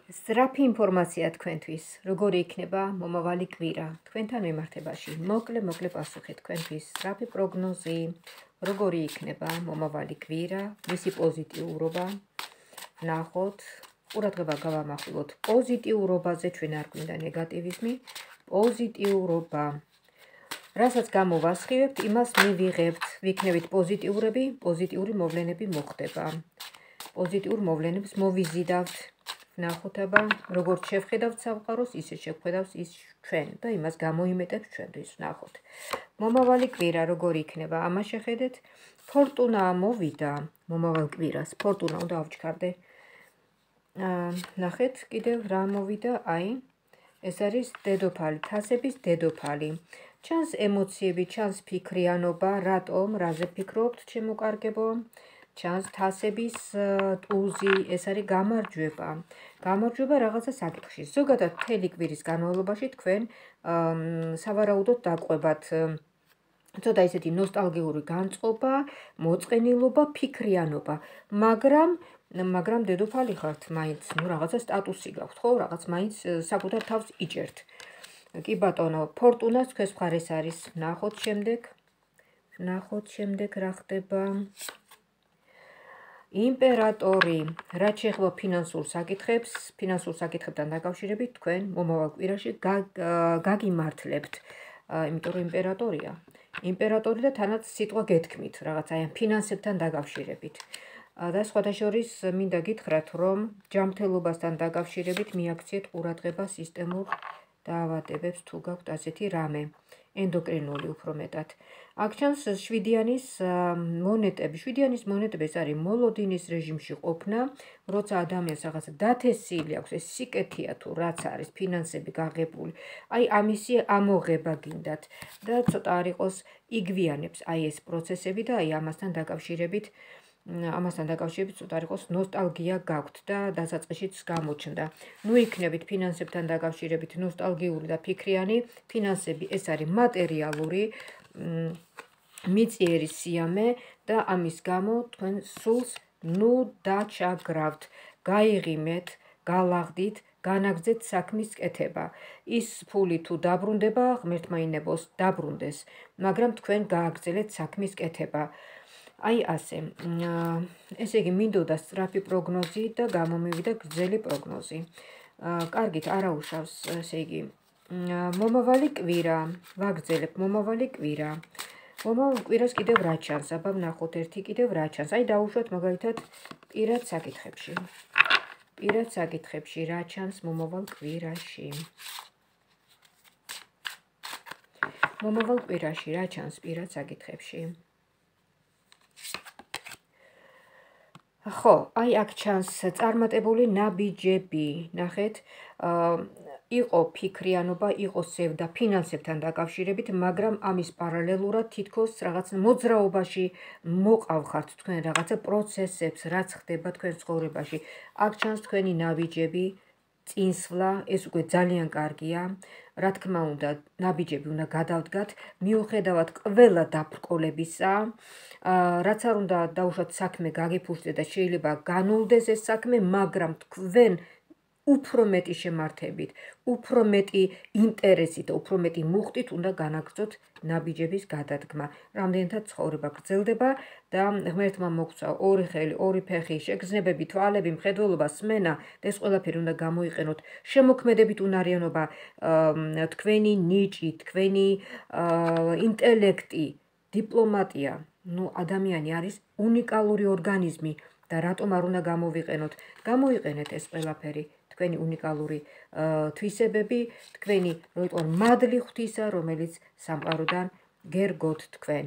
სწრაფი ინფორმაცია თქვენთვის, როგორი იქნება მომავალი კვირა თქვენთან მიმართებაში. მოკლე პასუხი თქვენთვის, სწრაფი პროგნოზი, როგორი იქნება მომავალი კვირა, მისი პოზიტიურობა. ნახოთ, ყურადღება გავამახვილოთ პოზიტიურობაზე, ჩვენ არ გვინდა ნეგატივიზმი, პოზიტიურობა. რასაც გამოვასხივებთ, იმას მივიღებთ, ვიქნებით პოზიტიურები, პოზიტიური მოვლენები მოხდება. პოზიტიურ მოვლენებს მოვიზიდავთ. ნახოთ აბა, როგორც შევხედავთ სამყაროს, ისე შევხედავს ის ჩვენ და იმას გამოიმეტებს ჩვენთვის. ნახოთ. მომავალი კვირა როგორი იქნება? ამას შეხედეთ. ფორტუნა მოვიდა მომავალ კვირას. ფორტუნა უნდა ავჩქარდე. ნახეთ, კიდევ რა მოვიდა? აი, ეს არის დედოფალი, თასების დედოფალი. ჩანს ემოციები, ჩანს ფიქრიანობა, რატომ, რაზე ფიქრობთ, ჩემო კარგებო? ჩანს თასების ტუზი, ეს არის გამარჯვება. გამარჯვება რაღაცა საკითხში. ზოგადად მთელი კვირის განმავლობაში თქვენ სავარაუდოდ დაყვებათ ცოტა ისეთი ნოსტალგიური განწყობა, მოწყენილობა, ფიქრიანობა. მაგრამ დედოფალი ხართ მაინც, რაღაცა სტატუსი გაქვთ, ხო? რაღაც მაინც საკუთარ თავს იჭერთ. კი ბატონო, ფორტუნას თქვენს მხარეს არის. ნახოთ შემდეგ რა ხდება. იმპერატორი, რაც შეეხება ფინანსურ საკითხებთან დაკავშირებით, თქვენ მომავალ კვირაში გაგიმართლებთ, იმიტომ რომ იმპერატორია. იმპერატორი და თანაც სიტყვა გეთქმით, რაღაც აი ფინანსებთან დაკავშირებით. და სხვათა შორის მინდა გითხრათ, რომ ჯანმრთელობასთან დაკავშირებით მიაქციეთ ყურადღება სისტემურ დაავადებებს, თუ გაქვთ ასეთი რამე. ენდოკრინული უფრო მეტად. აქ ჩანს შვიდიანის მონეტები. შვიდიანის მონეტები ეს არის მოლოდინის რეჟიმში ყოფნა, როცა ადამიანს რაღაცა დათესილი აქვს, ეს სიკეთეა თუ რაც არის, ფინანსები გაღებული. აი ამისი ამოღება გინდათ და ცოტა არ იყოს იგვიანებს აი ეს პროცესები და აი ამასთან დაკავშირებით ცოტა არ იყოს ნოსტალგია გაქვთ და დასაწყისშიც გამოჩნდა. ნუ იქნებით ფინანსებთან დაკავშირებით ნოსტალგიური და ფიქრიანი. ფინანსები ეს არის მატერიალური მიწიერი სიამე და ამის გამო თქვენ სულს ნუ დაჩაგრავთ, გაიღიმეთ, გალაღდით, განაგრძეთ საქმის კეთება. ის ფული თუ დაბრუნდება, ღმერთმა ინებოს დაბრუნდეს, მაგრამ თქვენ გააგრძელეთ საქმის კეთება. აი ასე. ესე იგი მინდოდა სწრაფი პროგნოზი და გამომივიდა გრძელი პროგნოზი. კარგით, არაუშავს, ესე იგი მომავალი კვირა, ვაგრძელებ მომავალი კვირა. მომავალ კვირას კიდევ რა ჩანს? აბა ვნახოთ ერთი კიდევ რა ჩანს. აი დავუშვათ მაგალითად პირად საკითხებში რა ჩანს მომავალ კვირაში. მომავალ კვირაში რა ჩანს პირად საკითხებში? ხო, აი აქ ჩანს წარმატებული ნაბიჯები. ნახეთ, იყო ფიქრიანობა, იყო სევდა ფინანსებთან დაკავშირებით, მაგრამ ამის პარალელურად თითქოს რაღაც მოძრაობაში მოყავხართ თქვენ რაღაცა პროცესებს, რაც ხდება თქვენ ცხოვრებაში. აქ ჩანს თქვენი ნაბიჯები, წინსვლა, ეს უკვე ძალიან კარგია. რა თქმა უნდა, ნაბიჯები უნდა გადავდგათ, მიუხედავად ყველა დაბრკოლებისა. რაც არ უნდა დაუშვათ საქმე გაგიფუძნდეს და შეიძლება განულდეს ეს საქმე, მაგრამ თქვენ უფრო მეტი შემართებით, უფრო მეტი ინტერესით და უფრო მეტი მუხტით უნდა განაგრძოთ ნაბიჯების გადადგმა. რამდენადაც ცხოვრება გრძელდება და ღმერთმა მოგცა ორი ხელი, ორი ფეხი, შეგრძნებები, თვალები, მხედველობა, სმენა და ეს ყველაფერი უნდა გამოიყენოთ. შემოქმედებით უნარიანობა, თქვენი ნიჭი, თქვენი ინტელექტი, დიპლომატია. ნუ ადამიანი არის უნიკალური ორგანიზმი და რატომ არ უნდა გამოვიყენოთ? გამოიყენეთ ეს ყველაფერი. თქვენი უნიკალური თვისებები, თქვენი როიტყვან მადლი ღვთისა, რომელიც სამყაროდან გერგოთ თქვენ.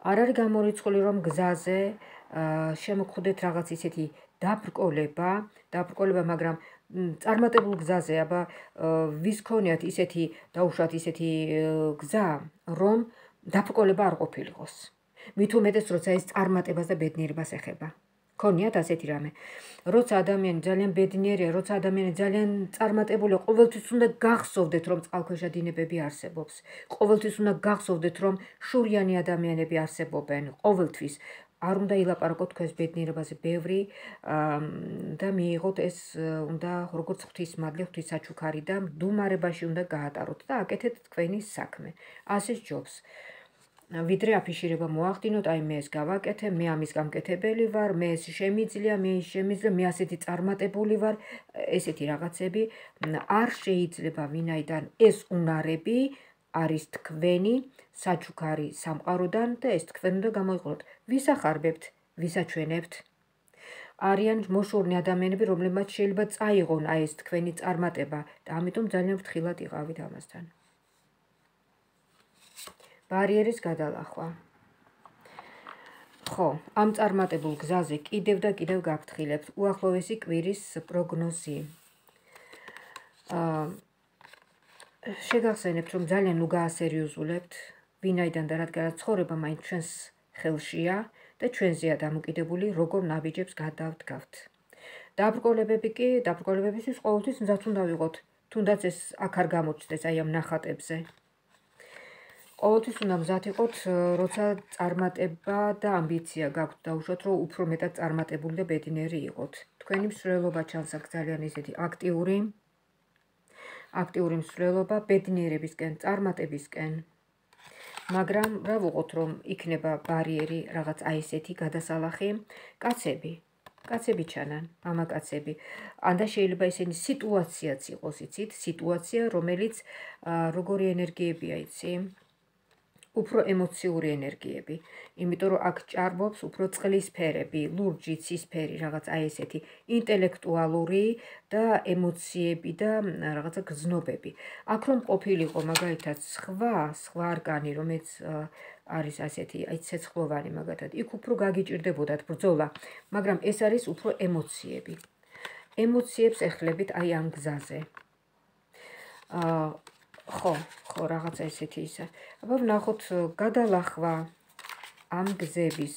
არ არის გამორიცხული, რომ გზაზე შემოგხვდეთ რაღაც ისეთი დაბრკოლება, მაგრამ წარმატებულ გზაზე, აბა ვის ქონიათ ისეთი დაუშვათ ისეთი გზა, რომ დაბრკოლება არ ყოფილიყოს. მით უმეტეს, როცა ეს წარმატებას და ბედნიერებას ეხება. ქონიათ ასეთი რამე. როცა ადამიანი ძალიან ბედნიერია, როცა ადამიანი ძალიან წარმატებულია, ყოველთვის უნდა გახსოვდეთ, რომ წყალქვეშა დინებები არსებობს. ყოველთვის უნდა გახსოვდეთ, რომ შურიანი ადამიანები არსებობენ. ყოველთვის. არ უნდა ილაპარაკოთ თქვენს ბედნიერებაზე ბევრი და მიიღოთ ეს უნდა როგორც ღვთისმადლი, ღვთისაჩუქარი და მდუმარებაში უნდა გაატაროთ და აკეთეთ თქვენი საქმე. ასე სჯობს. ვიდრე აფიშირება მოახდინოთ, აი მე ეს გავაკეთე, მე ამის გამკეთებელი ვარ, მე ეს შემიძლია, მე ის შემიძლია, მე ასეთი წარმატებული ვარ, ესეთი რაღაცები არ შეიძლება ვინაიდან ეს უნარები არის თქვენი საჩუქარი სამყაროდან და ეს თქვენ უნდა გამოიყუროთ. ვის ახარბებთ, ვის აჩვენებთ? არიან მოშორნი ადამიანები, რომლებმაც შეიძლება წაიღონ აი ეს თქვენი წარმატება და ამიტომ ძალიან ფრთხილად იყავით ამასთან. ბარიერის გადალახვა. ხო, ამ წარმატებულ გზაზე კიდევ და კიდევ გაფრთხილებთ. უახლოესი კვირის პროგნოზი. შეგახსენებთ, რომ ძალიან უგაასერიოზულებთ, ვინაიდან და რადგანაც ცხოვრება მაინც ჩვენს ხელშია და ჩვენზეა დამოკიდებული, როგორ ნაბიჯებს გადავდგავთ. დაბრკოლებებისთვის ყოველთვის მზად უნდა ვიყოთ, თუნდაც ეს აქ არ გამოჩნდეს აი ამ ნახატებზე. ყოველთვის უნდა მზად იყოთ, როცა წარმატება და ამბიცია გაქვთ დაუშვათ, რომ უფრო მეტად წარმატებული და ბედნიერი იყოთ. თქვენი მსვლელობა ჩანს აქ ძალიან ისეთი აქტიური მსვლელობა ბედნიერებისკენ, წარმატებისკენ. მაგრამ რა ვუყოთ, რომ იქნება ბარიერი რაღაც აი ესეთი გადასალახი, კაცები ჩანან, მამაკაცები. ანდა შეიძლება ესენი სიტუაციაც იყოს, იცით, სიტუაცია, რომელიც როგორი ენერგიებია, იცი? უფრო ემოციური ენერგიები, იმიტომ რომ აქ ჭარბობს უფრო წყლის ფერები, ლურჯი, ცისფერი, რაღაც აი ესეთი ინტელექტუალური და ემოციები და რაღაცა გზნობები. აქ რომ ყოფილიყო მაგალითად სხვა არგანი, რომელიც არის ასეთი, აი ცეცხლოვანი მაგათად, იქ უფრო გაგიჭირდებოდათ ბრძოლა, მაგრამ ეს არის უფრო ემოციები. ემოციებს ეხლებით აი ამ გზაზე. ხო, რაღაცა ესეთი ისა. აბა ვნახოთ გადალახვა ამ გზების,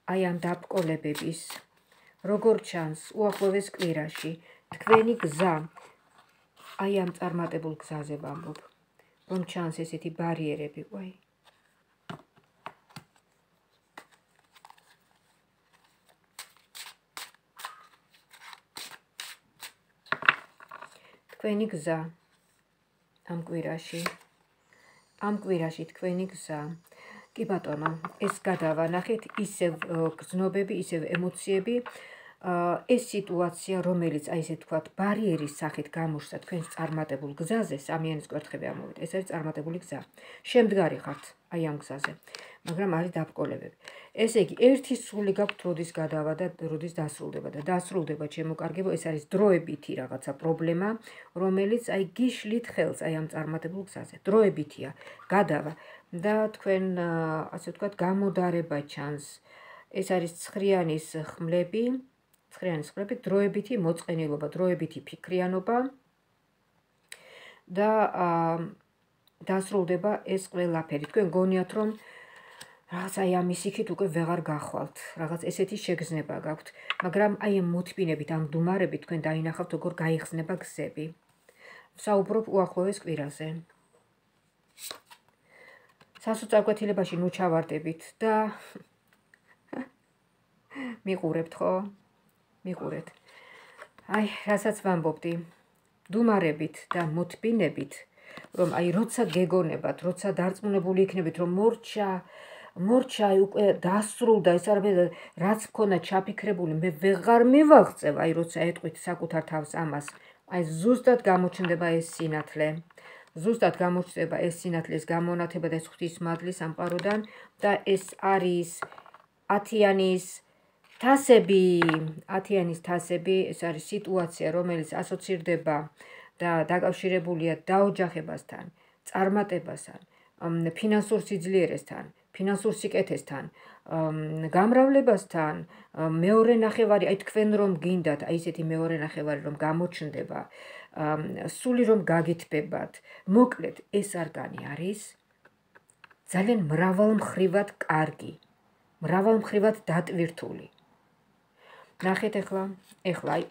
აი ამ დაბრკოლებების, როგორ ჩანს უახლოეს კვირაში, თქვენი გზა, აი ამ წარმატებულ გზაზე ვამბობ, რომ ჩანს ესეთი ბარიერები, ვაი. თქვენი გზა. ამ კვირაში თქვენი გზა. კი ბატონო, ეს გადავანახეთ, ისევ გზნობები, ისევ ემოციები, ეს სიტუაცია, რომელიც აი ესე თქვათ, ბარიერის სახით გამოჩნდა თქვენს წარმატებულ გზაზე, სამიანის კვერთხები ამოვიდა, ეს არის წარმატებული გზა. შემდგარი ხართ აი ამ გზაზე, მაგრამ არის დაბრკოლებები. ესე იგი, ერთი სული გაქვთ, როდის გადავა და როდის დასრულდება და დასრულდება, ჩემო კარგებო, ეს არის დროებითი რაღაცა პრობლემა, რომელიც აი გიშლით ხელს აი ამ წარმატებულ გზაზე. დროებითია, გადავა და თქვენ ასე ვთქვათ, გამოდარება ჩანს. ეს არის ცხრიანის ხმლები, დროებითი მოწყენილობა, დროებითი ფიქრიანობა და დასრულდება ეს ყველაფერი. თქვენ გონიათ, რომ რაღაც აი ამის იქით უკვე ვეღარ გახვალთ, რაღაც ესეთი შეგრძნება გაქვთ, მაგრამ აი ამ მოთმინებით, ამ მდუმარებით თქვენ დაინახავთ, როგორ გაიხსნება გზები. ვსაუბრობ უახლოეს კვირაზე. სასოწარკვეთილებაში ნუ ჩავარდებით და მიყურებთ, ხო? მიყურეთ. აი, რასაც ვამბობდი, მდუმარებით და მოთმინებით, რომ აი როცა გეგონებათ, როცა დარწმუნებული იქნებით, რომ მორჩა უკვე დასრულდა, ეს არის რაც მქონდა ჩაფიქრებული, მე ვეღარ მივაღწევ, აი როცა ეტყვით საკუთარ თავს ამას, აი ზუსტად გამოჩნდება ეს სინათლე. ზუსტად გამოჩნდება ეს სინათლის გამონათება და ეს ღვთისმადლი სამყაროდან და ეს არის ათიანის თასები, ეს არის სიტუაცია, რომელიც ასოცირდება და დაკავშირებულია დაოჯახებასთან, წარმატებასთან, ფინანსურ სიძლიერესთან, ფინანსურ სიკეთესთან, გამრავლებასთან, მეორე ნახევარი, აი თქვენ რომ გინდათ, აი ესეთი მეორე ნახევარი რომ გამოჩნდება, სული რომ გაგითბებათ, მოკლედ ეს არგანი არის ძალიან მრავალმხრივად კარგი, მრავალმხრივად დატვირთული. ნახეთ ახლა, აი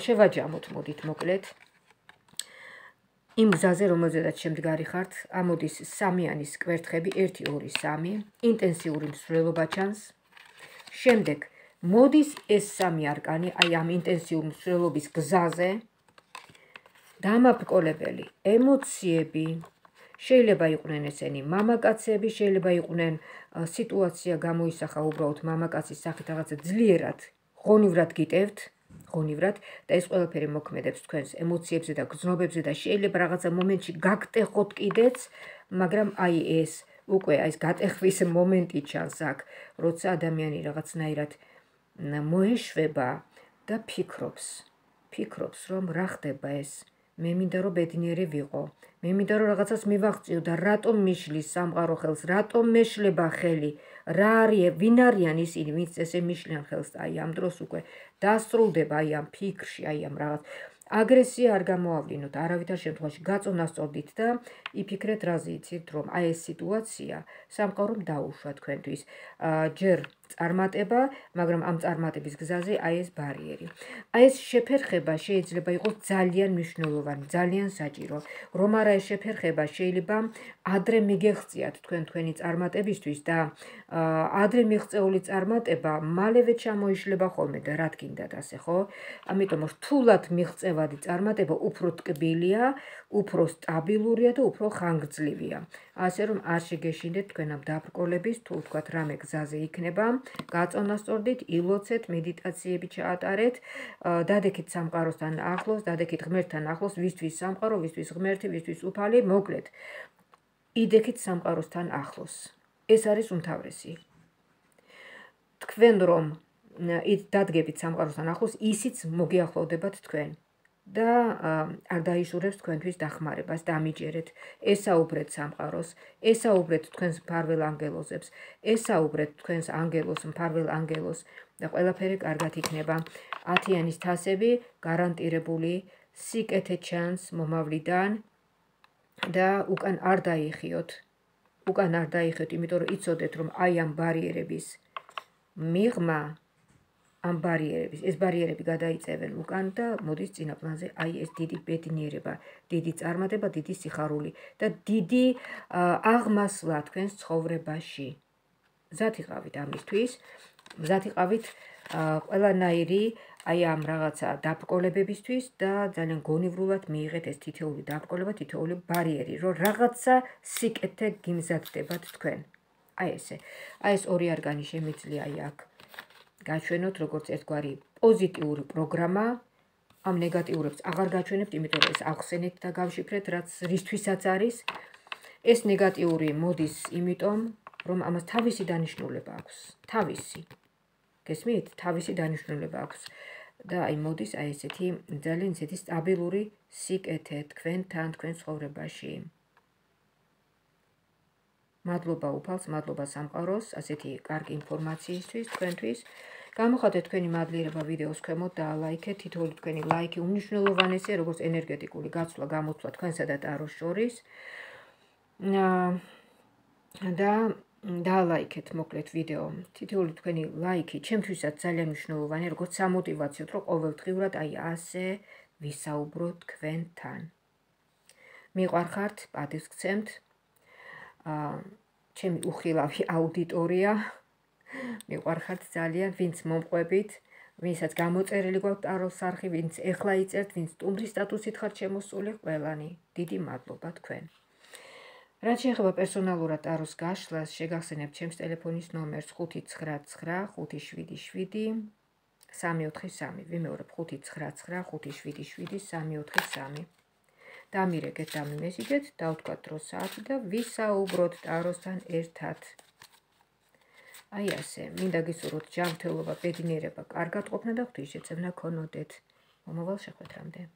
შევაჯამოთ, მოდით მოკლედ. იმ გზაზე, რომელზედაც შემდგარი ხართ, ამოდის სამიანის კვერთხები 1 2 3, ინტენსიური მსვლელობა ჩანს. შემდეგ მოდის ეს სამი არკანი, აი ამ ინტენსიური მსვლელობის გზაზე, დამაბრკოლებელი ემოციები, შეიძლება იყვნენ ესენი მამაკაცები, შეიძლება იყვნენ სიტუაცია გამოისახა უბრალოდ მამაკაცის სახით რაღაცა ძლიერად, ღონივრად გიტევთ, ღონივრად და ეს ყველაფერი მოქმედებს თქვენს ემოციებზე და გრძნობებზე და შეიძლება რაღაცა მომენტში გაგტეხოთ კიდეც, მაგრამ აი ეს უკვე ეს გატეხვის მომენტი ჩანს აქ, როცა ადამიანი რაღაცნაირად მოეშვება და ფიქრობს, რომ რა ხდება ეს. მე მინდა რომ ბედნიერი ვიყო. მე მინდა რომ რაღაცას მივაღწიო და რატომ მიშლის სამყარო ხელს, რატომ მეშლება ხელი, რა არის, ვინ არიან ისინი, ვინც ესე მიშლიან ხელს, აი ამ დროს უკვე დასრულდება აი ამ ფიქრში, აი ამ რაღაც აგრესია არ გამოავლინოთ, არავითარ შემთხვევაში გაწონასწორდით და იფიქრეთ რაზე იცით, რომ აი ეს სიტუაცია სამყარომ დაუშვა თქვენთვის. ჯერ წარმატება, მაგრამ ამ წარმატების გზაზე აი ეს ბარიერი. აი ეს შეფერხება შეიძლება იყოს ძალიან მნიშვნელოვანი, ძალიან საჭირო. რომ არა ეს შეფერხება შეიძლება ადრე მიგეღწიათ თქვენი წარმატებისთვის და ადრე მიღწეული წარმატება მალევე ჩამოიშლება ხოლმე და რა თქინდათ ასე, ხო? ამიტომ რთულად მიღწევადი წარმატება უფრო ტკბილია, უფრო სტაბილურია და უფრო ხანგრძლივია. ასე რომ არ შეგეშინდეთ თქვენ ამ დაბრკოლების, თუ თქვათ რამე გზაზე იქნება, გაწონასწორდით, ილოცეთ, მედიტაციები ჩაატარეთ, დადექით სამყაროსთან ახლოს, დადექით ღმერთთან ახლოს, ვისთვის სამყარო, ვისთვის ღმერთი, ვისთვის უფალი, მოკლედ. იდექით სამყაროსთან ახლოს. ეს არის უმთავრესი. თქვენ რომ დადგებით სამყაროსთან ახლოს, ისიც მოგიახლოვდებათ თქვენ. და არ დაიშურებს თქვენთვის დახმარებას, დამიჯერეთ, ესაუბრეთ სამყაროს, ესაუბრეთ თქვენს მფარველ ანგელოზებს, ესაუბრეთ თქვენს ანგელოს, მფარველ ანგელოს და ყველაფერი კარგად იქნება. 10-იანის თასები გარანტირებული, სიკეთე ჩანს მომავლიდან და უკან არ დაიხიოთ, იმიტომ რომ იცოდეთ, რომ აი ამ ბარიერების მიღმა ამ ბარიერების, ეს ბარიერები გადაიწევენ უკან და მოდის წინა პლანზე აი ეს დიდი ბედნიერება, დიდი წარმატება, დიდი სიხარული და დიდი აღმასვლა თქვენს ცხოვრებაში. მზად იყავით ამისთვის, მზად იყავით ყველანაირი აი ამ რაღაცა დაბრკოლებებისთვის და ძალიან გონივრულად მიიღეთ ეს თითოეული დაბრკოლება, თითოეული ბარიერი, რომ რაღაცა სიკეთე გიმზადდებათ თქვენ. აი ესე. აი ეს ორი არგანი შემიძლია აი აქ გაჩვენოთ როგორც ერთგვარი პოზიტიური პროგრამა, ამ ნეგატიურებს აღარ გაჩვენებთ, იმიტომ რომ ეს ახსენეთ და გავშიფრეთ, რაც რისთვისაც არის. ეს ნეგატიური მოდის იმიტომ, რომ ამას თავისი დანიშნულება აქვს. თავისი. გესმით? თავისი დანიშნულება აქვს. და აი მოდის აი ესეთი ძალიან ისეთი სტაბილური სიკეთე თქვენთან, თქვენ ცხოვრებაში. მადლობა უფალს, მადლობა სამყაროს, ასეთი კარგი ინფორმაციისთვის თქვენთვის. გამოხატეთ თქვენი მადლიერება ვიდეოს ქვემოთ და ლაიქეთ, თითოეული თქვენი ლაიქი უმნიშვნელოვანესია, როგორც ენერგეტიკული გაცვლა, გამოცვლა თქვენსა და ტაროს შორის. და დაალაიქეთ მოკლედ ვიდეო. თითოეული თქვენი ლაიქი ჩემთვისაც ძალიან მნიშვნელოვანია, როგორც სამოტივაციოდ, რომ ყოველდღიურად აი ასე ვისაუბროთ თქვენთან. მიყვარხართ, პატივს გცემთ. ჩემი უხილავი აუდიტორია, მიყვარხართ ძალიან, ვინც მომყვებით, ვინცაც გამოწერილი გვაქვს ტაროს არხი, ვინც ეხლა იწერთ, ვინც სტუმრის სტატუსით ხართ შემოსული, ყველანი, დიდი მადლობა თქვენ. რაც შეეხება პერსონალურად ტაროს გაშლას, შეგახსენებთ ჩემს ტელეფონის ნომერს 599-573-343. ვიმეორებ 599-577-343. დამირეკეთ, დამიმესიჯეთ, დავთქვათ დროს საათი და ვისაუბროთ ტაროსთან ერთად. აი ასე, მინდა გისურვოთ ჯანმრთელობა, ბედნიერება, კარგად ყოფნა და ღვთისმშეწევნა გქონოდეთ. მომავალ შეხვედრამდე.